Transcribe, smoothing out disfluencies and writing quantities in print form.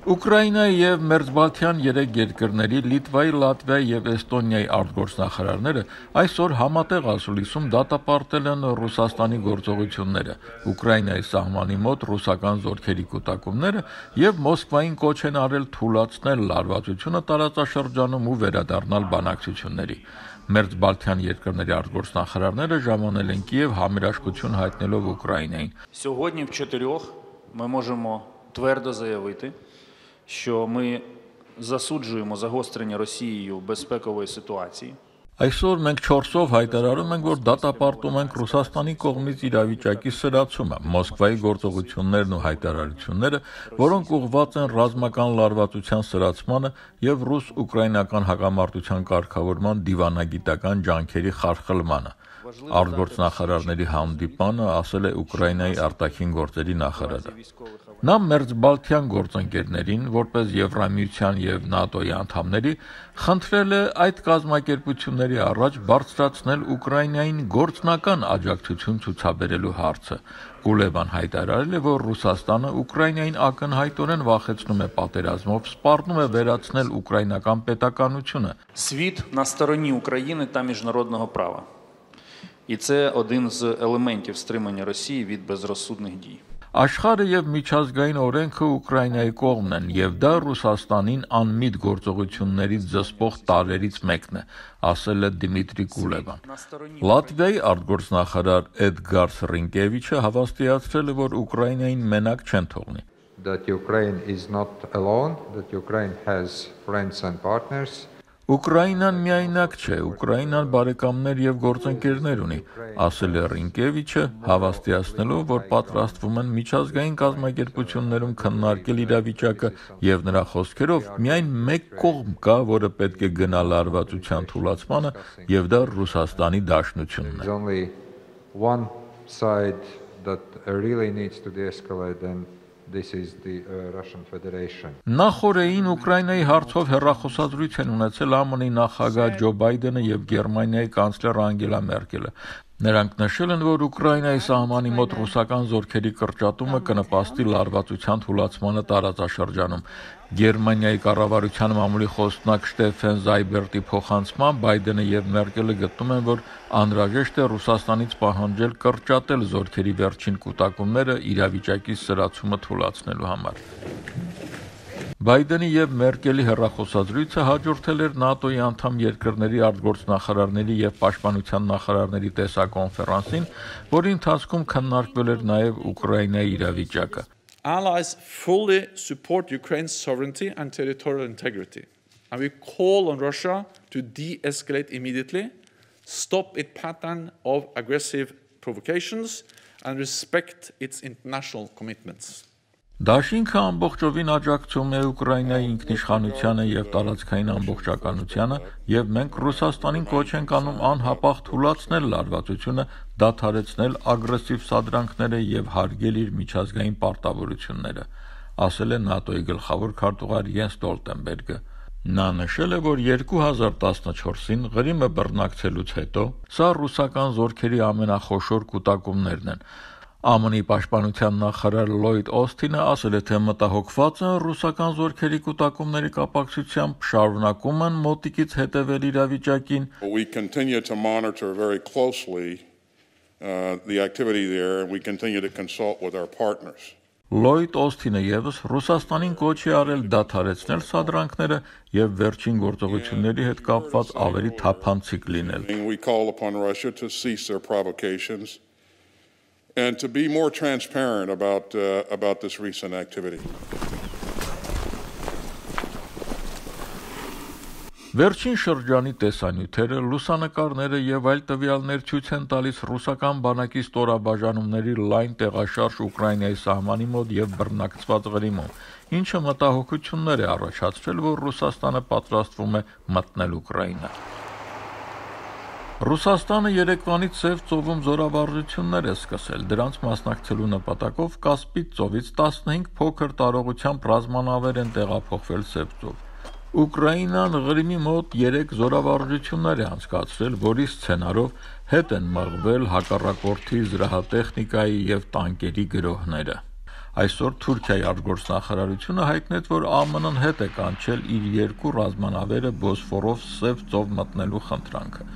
Ուկրաինայի և Մերձբալթյան երեք երկրների Լիտվայի, Լատվիայի և Էստոնիայի արտգործնախարարները այսօր համատեղ ասուլիսում դատապարտել են Ռուսաստանի գործողությունները, Ուկրաինայի սահմանի մոտ ռուսական զորքերի կուտակումները և Մոսկվային կոչ են արել թուլացնել լարվածությունը տարածաշրջանում ու վերադառնալ բանակցությունների։ Մերձբալթյան երկրների արտգործնախարարները ժամանել են Կիև համերաշխություն հայտնելով Ուկրաինային։ Сьогодні в 4 ми можемо твердо заявити, що ми засуджуємо загострення Росією безпекової ситуації. Այսօր մենք 4-ով հայտարարում ենք, որ դատապարտում ենք Ռուսաստանի կողմից իրավիճակի սրացումը, Մոսկվայի գործողություններն ու հայտարարությունները, որոնք ուղղված են ռազմական լարվածության սրացմանը և ռուս-ուկրաինական հակամարտության կարգավորման դիվանագիտական ջանքերի խարխլմանը։ Արտգործնախարարների հանդիպանը ասել է Ուկրաինայի արտաքին գործերի նախարարը։ Նա Մերձբալթյան գործընկերներին, որպես Եվրամիության և ՆԱՏՕ-ի անդամների, խնդրել է այդ կազմակերպությունների առաջ բարձրացնել Ուկրաինային գործնական աջակցություն ցուցաբերելու հարցը։ Կուլեբան հայտարարել է, որ Ռուսաստանը Ուկրաինային ակնհայտորեն վախեցնում է պատերազմով, սպառնում է վերացնել ուկրաինական պետականությունը։ Світ на стороні України та міжнародного права. І це один з елементів стримання Росії від безрозсудних дій. Աշխարհը եւ միջազգային օրենքը Ուկրաինայի կողմն են, եւ դա Ռուսաստանին անմիտ գործողություններից զսպող տարրերից մեկն է, ասել է Դիմիտրի Կուլեբան։ Լատվիայի արտգործնախարար Էդգար Սրինկևիչը հավաստիացրել է, որ Ուկրաինային մենակ չեն թողնի։ That Ukraine is not alone, that Ukraine has friends and partners. Ուկրաինան միայնակ չէ, Ուկրաինան բարեկամներ և գործընկերներ ունի, ասել է Ռինկևիչը, հավաստիացնելով, որ պատրաստվում են միջազգային կազմակերպություններում քննարկել իրավիճակը և նրա խոսքերով միայն մեկ կողմ կա, որը պետք է գնա լարվածության թուլացմանը, և դա Ռուսաստանի Դաշնությունն է։ There's only one side that really needs to de-escalate, and this is the Russian Federation. Նախորդին Ուկրաինայի հարցով հեռախոսազրույց են ունեցել ԱՄՆ-ի նախագահ Ջո Բայդենը և Գերմանիայի կանցլեր Անգելա Մերկելը։ Նրանք նշել են, որ Ուկրաինայի սահմանի մոտ ռուսական զորքերի կրճատումը կնպաստի լարվածության թուլացմանը տարածաշրջանում։ Գերմանիայի կառավարության մամուլի խոսնակ Շտեֆեն Զայբերտի փոխանցմամբ Բայդենը և Մերկելը գտնում են, որ անհրաժեշտ է Ռուսաստանից պահանջել կրճատել զորքերի վերջին կուտակումները իրավիճակի սրացումը թուլացնելու համար։ Բայդենի և Մերկելի հեռախոսազրույցը հաջորդել էր ՆԱՏՕ-ի անդամ երկրների արտգործնախարարների և պաշտպանության նախարարների տեսակոնֆերանսին, որի ընթացքում քննարկվել էր նաև Ուկրաինայի իրավիճակը։ Allies fully support Ukraine's sovereignty and territorial integrity, and we call on Russia to de-escalate immediately, stop its pattern of aggressive provocations, and respect its international commitments. Դաշինքը ամբողջովին աջակցում է Ուկրաինայի ինքնիշխանությանը և տարածքային ամբողջականությանը, և մենք Ռուսաստանին կոչ ենք անում անհապաղ թուլացնել լարվածությունը, դադարեցնել ագրեսիվ սադրանքները և հարգել իր միջազգային պարտավորությունները, ասել է ՆԱՏՕ-ի գլխավոր քարտուղար Յենս Ստոլտենբերգը։ Նա նշել է, որ 2014-ին Ղրիմը բռնակցելուց հետո սա ռուսական զորքերի ամենախոշոր կուտակումներն են։ ԱՄՆ-ի պաշտպանության նախարար Լլոյդ Օսթինը ասել է, թե մտահոգված են ռուսական զորքերի կուտակումների կապակցությամբ, շարունակում են մոտիկից հետևել իրավիճակին։ We continue to monitor very closely the activity there, and we continue to consult with our partners. Լլոյդ Օսթինը ևս Ռուսաստանին կոչ է արել դադարեցնել սադրանքները և վերջին գործողությունների հետ կապված ավելի թափանցիկ լինել։ We call upon Russia to cease their provocations and to be more transparent about this recent activity. Վերջին շրջանի տեսանյութերը, լուսանկարները և այլ տվյալներ ցույց են տալիս ռուսական բանակի ստորաբաժանումների լայն տեղաշարժ Ուկրաինայի սահմանի մոտ և բռնակցված Ղրիմում, ինչը մտահոգություններ է առաջացրել, որ Ռուսաստանը պատրաստվում է մտնել Ուկրաինա։ Ռուսաստանը երեկվանից Սև ծովում զորավարժություններ է սկսել, դրանց մասնակցելու նպատակով Կասպից ծովից 15 փոքր տարողությամբ ռազմանավեր են տեղափոխվել Սև ծով։ Ուկրաինան Ղրիմի մոտ 3 զորավարժություններ է անցկացրել, որի սցենարով հետ են մղվել հակառակորդի զրահատեխնիկայի և տանկերի գրոհները։ Այսօր Թուրքիայի արտգործնախարարությունը հայտնեց, որ ԱՄՆ-ն հետ է կանչել իր 2 ռազմանավերը Բոսֆորով Սև ծով մտնելու խնդրանքը։